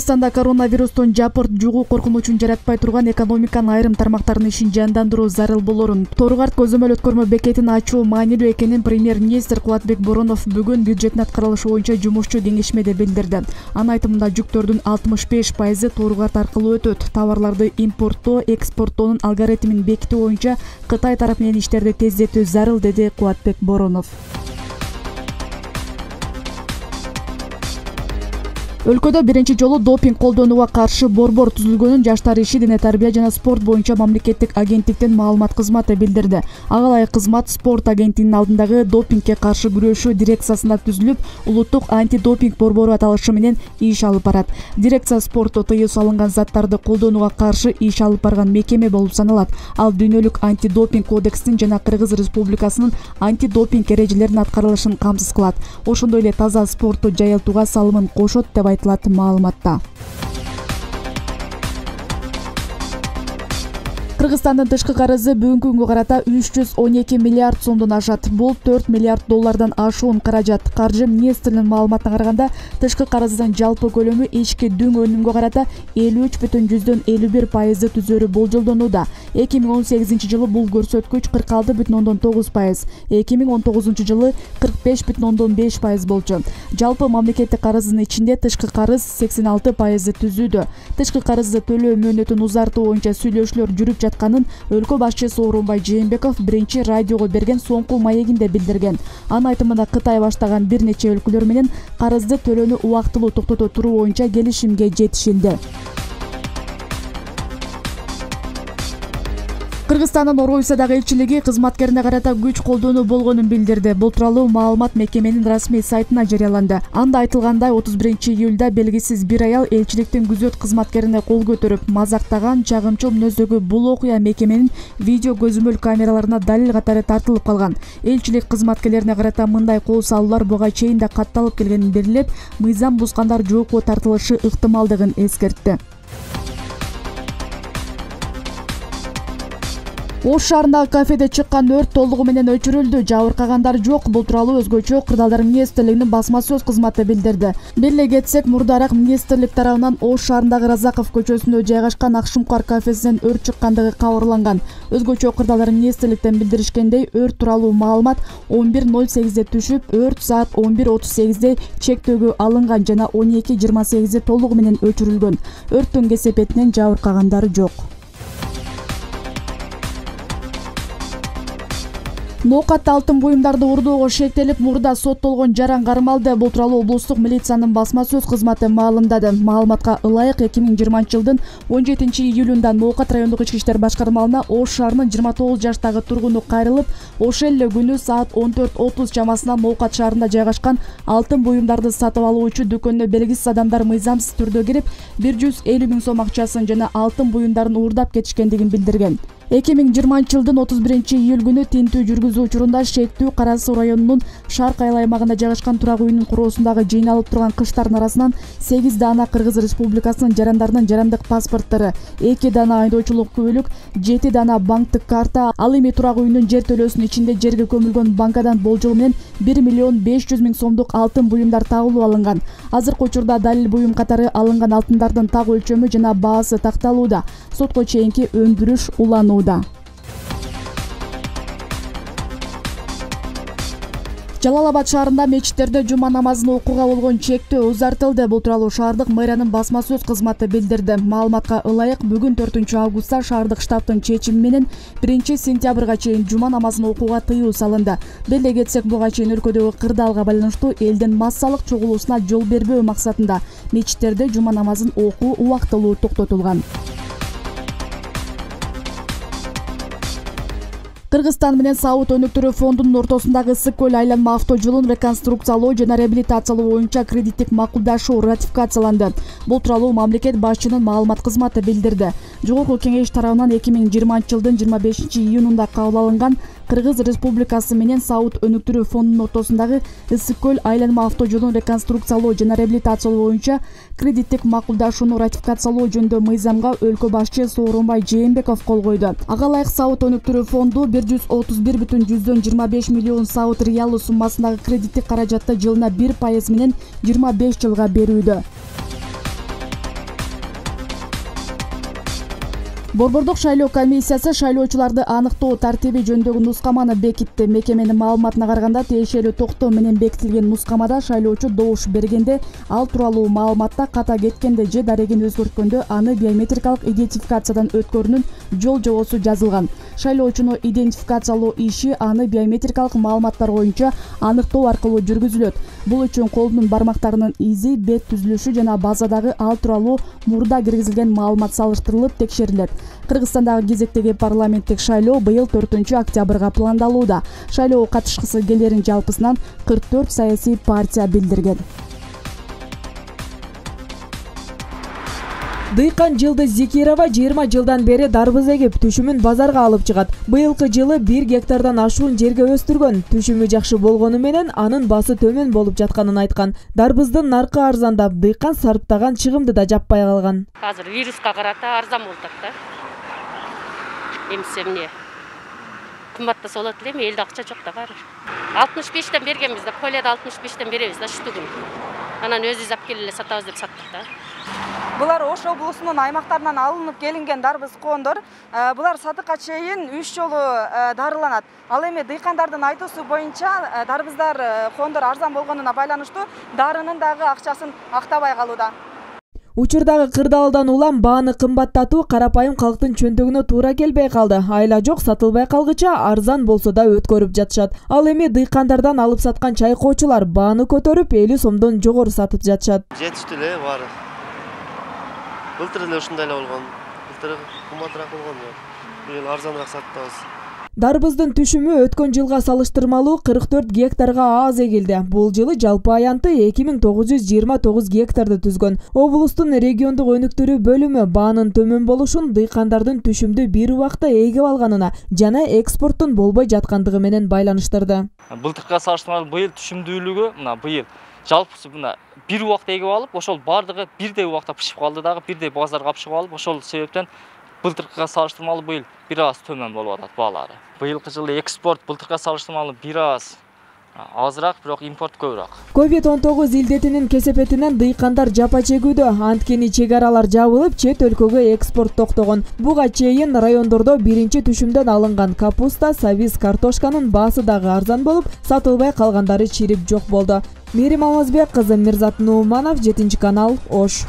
Кыргызстанда коронавирустун жапырт жугуу коркунучун жаратпай турган экономиканын айрым тармактарынын ишин жандандыруу зарыл болорун, Тору-Карт көзөмөл өткөрмө бекетин ачуу маанилүү экенин премьер-министр Кубатбек Боронов бүгүн бюджеттин аткарылышы боюнча жумушчу кеңешмеде билдирди. Анын айтымында жүктөрдүн 65% Тору-Карт аркылуу өтөт. Товарларды импорттоо, экспорттоонун алгоритмин бекитүү боюнча Кытай тарап менен иштерди тездетүү зарыл, деди Кубатбек Боронов. Өлкөдө биринчи жолу допинг колдонууга каршы борбор түзүлгөнүн Жаштар иши, дене тарбия жана спорт боюнча мамлекеттик агенттиктин маалымат кызматы билдирди. Ага ылайык кызмат спорт агенттигинин алдындагы допингге каршы күрөшүү дирекциясында түзүлүп, улуттук антидопинг борбору аталышы менен иш алып барат. Дирекция спортто тыюу салынган заттарды колдонууга каршы иш алып барган мекеме болуп саналат. Ал дүйнөлүк антидопинг кодексин жана Кыргыз Республикасынын антидопинг эрежелеринин аткарылышын камсыз кылат. Ошондой эле таза спортту жайылтууга салымын кошот деп айтылат маалыматта. Кыргызстандын тышкы карызы бүгүнкү күнгө карата 312 миллиард сомдон ашат. Бул 4 миллиард доллардан ашуун каражат. Каржы министринин маалыматына караганда, тышкы карыздын жалпы көлөмү ички дүң өнүмгө карата 53,51% түзөрү болжолдонууда. 2018 жылы бул көрсөткүч 46,9%, 2019 жылы 45,5% болчу. Жалпы мамлекеттик карыздын ичинде тышкы карыз 86% түзүүдө. Тышкы карызды төлөө мөөнөтүн узартуу боюнча сүйлөшүүлөр жүрүп жатканын өлкө башчысы Сооронбай Жээнбеков биринчи радиого берген соңку маегинде билдирген. Анын айтымында Кытай баштаган бир нече өлкөлөр менен карызды төлөөнү убактылуу токтото туруу боюнча келишимге жетишилди. Кыргызстандын Орусиядагы элчилиги кызматкерине карата күч колдонуу болгонун билдирди. Бул тууралуу маалымат мекеменин расмий сайтына жарыяланды. Анда айтылгандай, 31-июлда белгисиз бир аял элчиликтин күзөт кызматкерине кол көтөрүп, мазактаган, чагымчыл мүнөздөгү бул окуя мекеменин видео көзөмөл камераларына далил катары тартылып калган. Элчилик кызматкерлерине карата мындай кол салуулар буга чейин да катталып келгенин белгилеп, мыйзам бузгандар жоопко тартылышы ыктымалдыгын эскертти. Ош шаарындагы кафеде чыккан өрт толугу менен өчүрүлдү. Жабыркагандар жок. Бул тууралуу өзгөчө Кырдаалдар министрлигинин басма сөз кызматы билдирди. Беле кетсек, мурдараак министрлик тарабынан Ош шаарындагы Разаков көчөсүндө жайгашкан Акшумкар кафесинен өрт чыккандыгы кабарланган. Өзгөчө Кырдаалдар министрликтен билдиришкендей, өрт тууралуу маалымат 11:08 түшүп, өрт саат 11:38 чектөөгө алынган жана 12:28 толугу менен өчүрүлгөн. Өрттүн кесепетинен жабыркагандар жок. Ноокатта алтын буюмдарды урдоого шектелип, мурда соттолгон жаран кармалды. Бул тууралуу облустук милициянын басма сөз кызматы маалымдады. Маалыматка ылайык 2020 жылдын 17-июлунда Ноокат райондук ички иштер башкармалына Ош шаарынын 29 жаштагы тургуну кайрылып, ошол эле күнү саат 14:30 чамасында Ноокат шаарында жайгашкан алтын буюмдарды сатып алуучу дүкөнүнө белгисиз адамдар мыйзамсыз түрдө кирип, 150 000 сом акчасын жана алтын буюмдарын уурдап кетишкендигин билдирген. 2020 жылдын 31-июль күнү тинтүү жүргүзүү учурунда Шектүү Кара Суу районунун Шарк айыл аймагында жайгашкан турак үйүнүн короосундагы жыйналып турган кыштардын арасынан 8 дана Кыргыз Республикасынын жарандарынын жарандык паспорттору, 2 дана айдоочулук күбөлүк, 7 дана банктык карта, ал эми турак үйүнүн жер төлөөсүнүн ичинде жерге көмүлгөн банкадан болжол менен 1,5 миллион сомдук алтын буюмдар табылып алынган. Азыркы учурда далил буюм катары алынган алтындардын так өлчөмү жана баасы такталууда. Сотко чейинки өндүрүш уланууда. Жалал-Абад шаарында мечиттерде жума намазын окууга болгон чектөө узартылды. Бул тууралуу шаардык мэриянын басма сөз кызматы билдирди. Маалыматка ылайык, бүгүн 4-августта шаардык штабтын чечими менен 1-сентябрга чейин жума намазын окууга тыюу салынды. Беле кетсек, буга чейин өлкөдөгү кырдаалга байланыштуу элдин массалык чогулуусуна жол бербөө максатында мечиттерде жума намазын окуу убактылуу токтотулган. Кыргызстан менен Саут өнүктүрүү фондунун ортосундагы Ысык көл айланма автожолун реконструкциялоо жана реабилитациялоо боюнча кредиттик макулдашуу ратификацияланды. Бул тууралуу мамлекет башчынын маалымат кызматы билдирди. Жогорку кеңеш тарабынан 2020 жылдын 25-июнунда кабыл алынган Кыргыз Республикасы менен Саут өнүктүрүү фондунун ортосундагы Ысык көл айланма автожолун реконструкциялоо жана реабилитациялоо боюнча кредиттик макулдашууну ратификациялоо жөнүндө мыйзамга өлкө башчы Сооронбай Жээнбеков кол койду. Ага ылайык Саут өнүктүрүү фонду 131,25 миллион Саут реалы суммасындагы кредиттик каражатты жылына 1% менен 25 жылга берүүдө. Борбордук шайлоо комиссиясы шайлоочуларды аныктоо тартиби жөнүндөгү нускаманы бекитти. Мекеменин маалыматына караганда, тиешелүү токтоо менен бекитилген нускамада шайлоочу добуш бергенде, ал тууралуу маалыматта ката кеткенде же дарегин өзгөрткөндө аны биометрикалык идентификациядан өткөрүүнүн жол жобосу жазылган. Шайлоочуну идентификациялоо иши аны биометрикалык маалыматтар боюнча аныктоо аркылуу жүргүзүлөт. Бул үчүн колдун бармактарынын изи, бет түзүлүшү жана базадагы ал тууралуу мурда киргизилген маалымат салыштырылып текшерилет. Кыргызстандагы кезектеги парламенттик шайлоо быйыл 4-октябрга пландалууда. Шайлоого катышкысы келерин жалпысынан 44 саясий партия билдирген. Дыйкан Жылдыз Зикирова 20 жылдан бери дарбыз эгип, түшүмүн базарга алып чыгат. Быйылкы жылы 1 гектардан ашуун жерге өстүргөн. Түшүмү жакшы болгону менен анын басы төмөн болуп жатканын айткан. Дарбыздын наркы арзандап, дыйкан сарптаган чыгымды да жаппай калган. Азыр вируска карата арзан болуп атат да. Эмсе эмне? Кымбаттаса болот эле, элде акча жок да баары. 65тен бергенбиз да, полияда 65тен беребиз да штугун. Анан өзүбүз алып келип эле сатабыз деп саттык да. Булар Ош облусунун аймактарынан алынып келинген дарбыз кондор. Булар сатыкка чейин 3 жолу дарыланат. Ал эми дыйкандардын айтуусу боюнча дарбыздар кондор арзан болгонуна байланыштуу дарынын дагы акчасын актабай калууда. Учурдагы кырдаалдан улам бааны кымбаттатуу карапайым калктын чөнтөгүнө туура келбей калды. Айла жок сатылбай калгыча арзан болсо да өткөрүп жатышат. Ал эми дыйкандардан алып саткан чайкоочулар бааны көтөрүп 50 сомдон жогору сатып жатышат. Жетиштүү эле баары. Былтыр эле ушундай эле болгон. Былтыр кымбатыраак болгон. Быйыл арзаныраак саттыбыз. Дарбыздын түшүмү өткөн жылга салыштырмалуу 44 гектарга аз эгилди. Бул жылы жалпы аянты 2929 гектарды түзгөн. Облустун региондук өнүктүрүү бөлүмү баанын төмөн болушун дыйкандардын түшүмдү бир убакта эгип алганына жана экспорттун болбой жаткандыгы менен байланыштырды. Былтыркыга салыштырмалуу быйыл түшүмдүүлүгү мына быйыл жалпысы мына бир убакта эгип алып, ошол бардыгы бирдей убакта пишип калды дагы, бирдей базарга алып чыгып алып, ошол себептен былтыркыга салыштырмалуу быйыл бир аз төмөн болуп атат баалары. Быйылкы жылы экспорт былтыркыга салыштырмалуу бир аз азыраак, бирок импорт көбүрөөк. COVID-19 илдетинин кесепетинен дыйкандар жапа чегүүдө. Анткени чек аралар жабылып, чет өлкөгө экспорт токтогон. Буга чейин райондордо биринчи түшүмдөн алынган капуста, сабиз, картошканын баасы дагы арзан болуп, сатылбай калгандары чирип жок болду. Мерим Алмазбек кызы, Мирзат Нууманов, 7 канал, Ош.